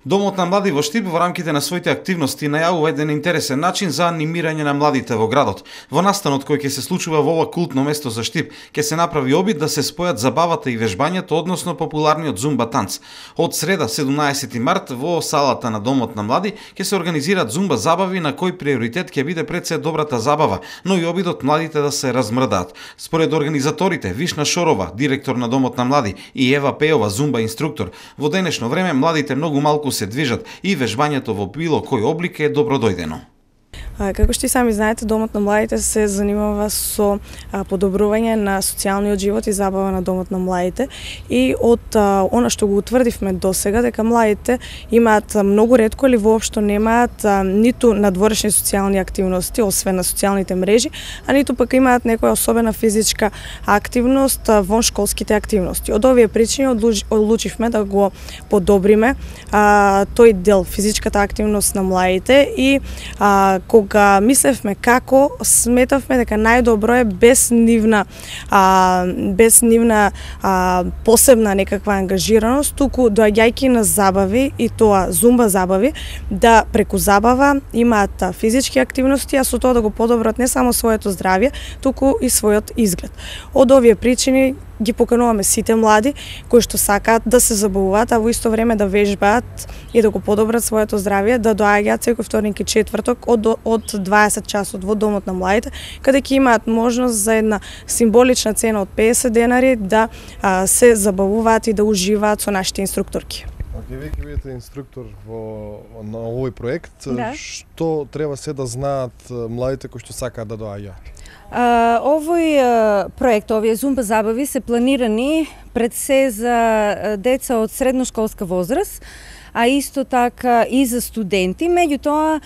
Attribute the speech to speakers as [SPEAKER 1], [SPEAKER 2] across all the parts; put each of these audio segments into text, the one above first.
[SPEAKER 1] Домот на млади во Штип во рамките на своите активности најавува еден интересен начин за анимирање на младите во градот. Во настанот кој ќе се случува во ова култно место за Штип, ќе се направи обид да се спојат забавата и вежбањето, односно популарниот зумба танц. Од среда 17 март во салата на Домот на млади ќе се организираат зумба забави на кој приоритет ќе биде пред се добрата забава, но и обидот младите да се размрдаат. Според организаторите Вишна Шорова, директор на Домот на млади, и Ева Пеова, зумба инструктор, во денешно време младите многу малку се движат и вежбањето во било кој облик е добродојдено.
[SPEAKER 2] Како што и сами знаете, Домот на младите се занимава со подобрување на социјалниот живот и забава на Домот на младите, и од она што го утврдивме досега, дека младите имаат многу ретко или воопшто немаат ниту надворешни социјални активности, освен на социјалните мрежи, а ниту пак имаат некоја особена физичка активност вон школските активности. Од овие причини одлучивме да го подобриме тој дел, физичката активност на младите, и кога мислевме како, сметавме дека најдобро е без нивна посебна некаква ангажираност, туку доаѓајќи на забави, и тоа зумба забави, да преку забава имаат физички активности, а со тоа да го подобрат не само своето здравје, туку и својот изглед. Од овие причини ги покануваме сите млади кои што сакаат да се забавуваат, а во исто време да вежбаат и да го подобрат своето здравје, да доаѓаат секој вторник и четврток од 20 часот во Домот на младите, каде ќе имаат можност за една символична цена од 50 денари да се забавуваат и да уживаат со нашите инструкторки.
[SPEAKER 3] Вие ќе бидете инструктор на овој проект.
[SPEAKER 2] Да.
[SPEAKER 3] Што треба се да знаат младите кои што сакаат да доаѓаат?
[SPEAKER 4] Овој проект, овие зумба забави се планирани пред се за деца од средношколска возраст, а исто така и за студенти. Меѓутоа,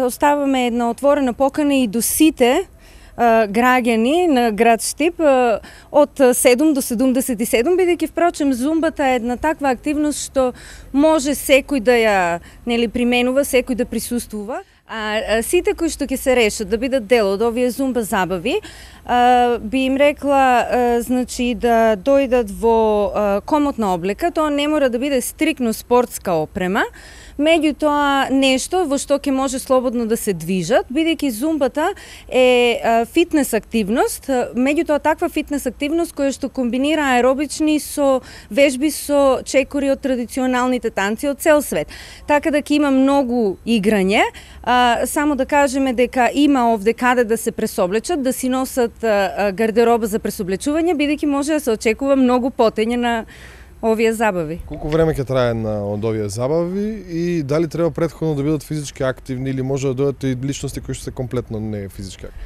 [SPEAKER 4] оставаме една отворена покана и до сите граѓани на град Штип од 7 до 77, бидејќи впрочем зумбата е една таква активност што може секој да ја применува, секој да присуствува. А сите кои што ќе се решат да бидат дел од овие зумба забави, би им рекла значи да дојдат во комотна облека. Тоа не мора да биде стрикно спортска опрема, меѓутоа нешто во што ќе може слободно да се движат, бидејќи зумбата е фитнес активност, меѓутоа таква фитнес активност која што комбинира аеробични со вежби со чекори од традиционалните танци од цел свет. Така да ќе има многу играње, само да кажеме дека има овде каде да се пресоблечат, да си носат гардероба за пресоблечување, бидејќи може да се очекува многу потење на овие забави.
[SPEAKER 3] Колку време ќе трае од овие забави и дали треба претходно да бидат физички активни или може да дојдат и личности кои што се комплетно не физички активни?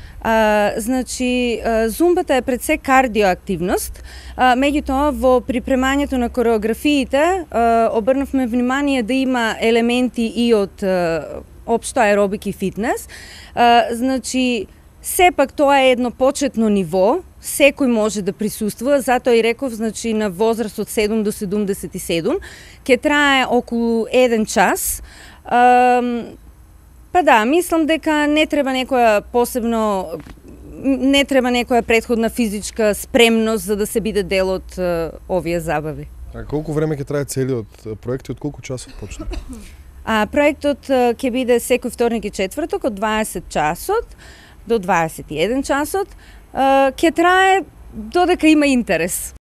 [SPEAKER 4] Значи, зумбата е пред се кардиоактивност, меѓутоа во припремањето на кореографиите обрнавме внимание да има елементи и од општо аеробик и фитнес. Значи, сепак тоа е едно почетно ниво, секој може да присуствува, затоа и реков, значи на возраст од 7 до 77, ќе трае околу 1 час. Па да, мислам дека не треба некоја претходна физичка спремност за да се биде дел од овие забави.
[SPEAKER 3] А колку време ќе трае целиот проект и од колку часот почна?
[SPEAKER 4] Проектот ќе биде секој вторник и четврток од 20 часот до 21 часот. Ќе трае додека има интерес.